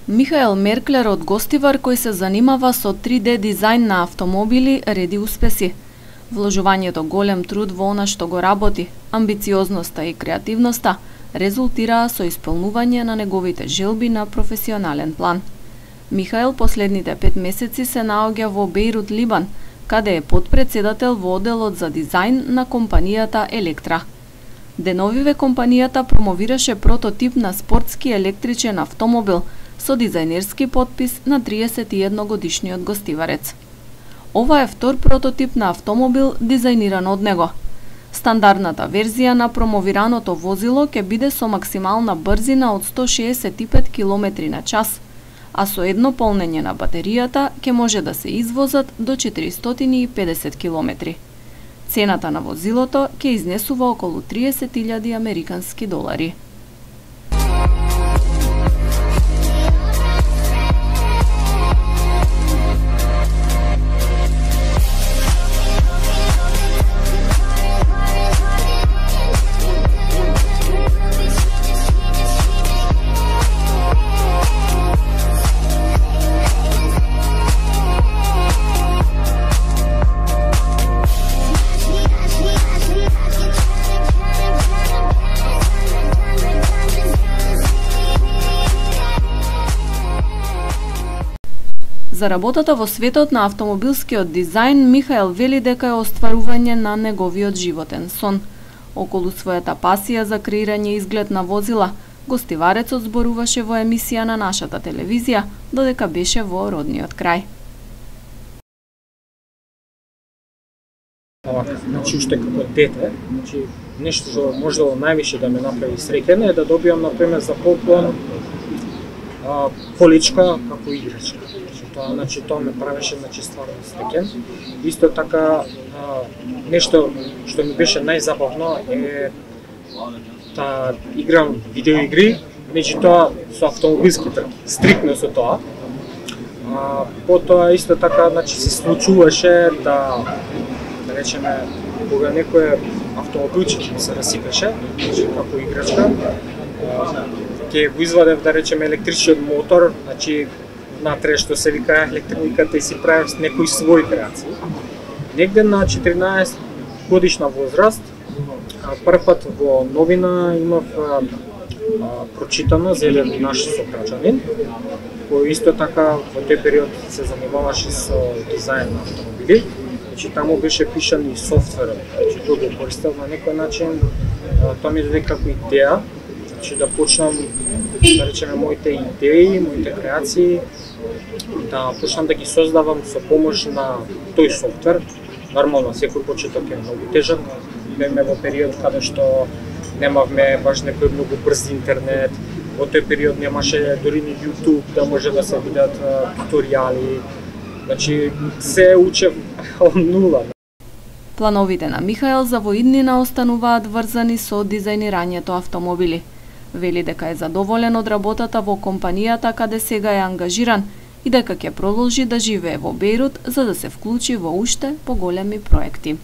Михаел Мерклер од Гостивар, кој се занимава со 3D дизајн на автомобили, реди успеси. Вложувањето голем труд во она што го работи, амбициозноста и креативноста резултираа со исполнување на неговите желби на професионален план. Михаел последните 5 месеци се наоѓа во Бејрут, Либан, каде е потпредседател во одделот за дизајн на компанијата Електра. Деновиве компанијата промовираше прототип на спортски електричен автомобил со дизајнерски подпис на 31-годишниот гостиварец. Ова е втор прототип на автомобил дизајниран од него. Стандардната верзија на промовираното возило ќе биде со максимална брзина од 165 км на час, а со едно полнење на батеријата ќе може да се извозат до 450 км. Цената на возилото ќе изнесува околу 30.000 американски долари. За работата во светот на автомобилскиот дизајн, Михаел вели дека е остварување на неговиот животен сон. Околу својата пасија за креирање изглед на возила, гостиварецот зборуваше во емисија на нашата телевизија, додека беше во родниот крај. Значи, уште како дете, нешто што можело највише да ме направи среќен е да добиам, например, за поклон количка како играчка. Тоа ме правеше стварно среќен. Исто така, нешто што ми беше најзабавно е да играм видеоигри, меѓутоа со автомобилски трки, стрикно со тоа. Потоа исто така, се случуваше да речеме, кога некој автомобилче се расипеше, како играчка, ќе го извадев, да речеме, електричниот мотор, внатре што се вика електрониката и си правев некои своји креации. Негде на 14 годишна возраст, прв пат во новина имав прочитано за еден наш сограѓанин, кој исто така во тој период се занимаваше со дизајн на автомобили. Таму беше пишан и софтверот, тој го користел на некој начин. Тоа ми даде како идеја, да почнам, да речеме, моите идеи, моите креации, да почнам да ги создавам со помош на тој софтвер. Нормално, секој почеток е многу тежок. Бевме во период каде што немавме баш некој многу брз интернет. Во тој период немаше дури ни YouTube да може да се видат туторијали. Се учев од нула. Плановите на Михаел за воиднина остануваат врзани со дизајнирањето автомобили. Вели дека е задоволен од работата во компанијата каде сега е ангажиран и дека ќе продолжи да живее во Бејрут за да се вклучи во уште поголеми проекти.